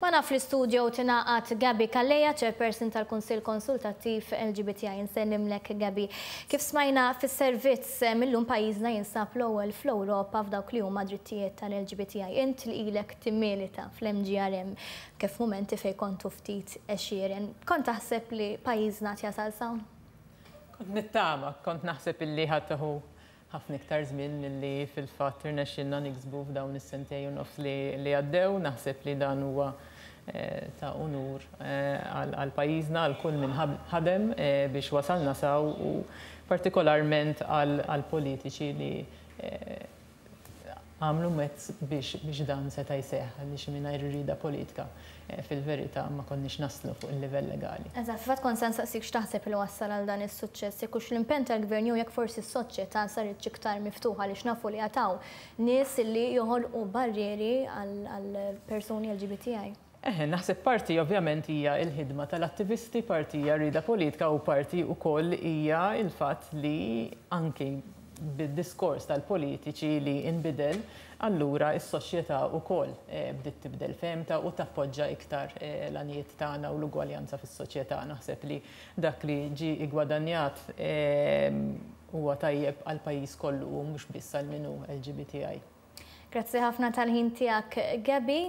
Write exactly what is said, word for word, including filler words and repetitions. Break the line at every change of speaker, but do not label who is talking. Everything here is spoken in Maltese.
Magħna fl-istudio tingħaqad Gabi Calleja, chairperson tal-Kunsill Konsultattiv L G B T I. Insellimlek, Gabi. Kif smajna fis-servizz, millum pajjiżna jinsab l-ewwel fl-Ewropa f'dawk li huma drittijiet tal-L G B T I. Int li ilek timmilita fl-M G R M kif momenti fej kontu ftit għexieren. Kont taħseb li pajjiżna jasal s'hawn?
Kont nittama, kont naħseb illi ħa tieħu ħafna iktar żmien milli fil-fatt irnexxilna niksbu f'dawn is-sentejn u nofs li għaddew. Naħseb li dan huwa eh, ta' unur eh, għal pajjiżna, għal kull min ħadem eh, biex wasalna s'hawn u partikolarment għal politiċi li għamlu mezz biex dan seta' jseħħ, għaliex mingħajr rieda politika fil-verità ma konniex naslu fuq il-livell legali.
Eżatt, fatt kont se nsaqsik x'taħseb li wassal għal dan is-suċċess, jekk hux l-impenn tal-gvern jew jekk forsi s-soċjetà saret iktar miftuħa, għaliex nafu li għad hawn nies li joħolqu barrieri għal persuni L G B T I.
Eħe, naħseb parti ovvjament hija il-ħidma tal-attivisti, parti hija rieda politika u parti wkoll hija il-fatt li anki bid-diskors tal-politiċi li inbidel, allura is-soċjetà wkoll eh, bdiet tibdel fehmtha u tappoġġa iktar eh, l-għanijiet tagħna u l-ugwaljanza fis-soċjetà. Naħseb li dak li ġi igwadanjat eh, huwa tajjeb għal pajjiż kollu u mhux biss għal min hu L G B T I.
Grazzi ħafna tal-ħin tiegħek, Gabi.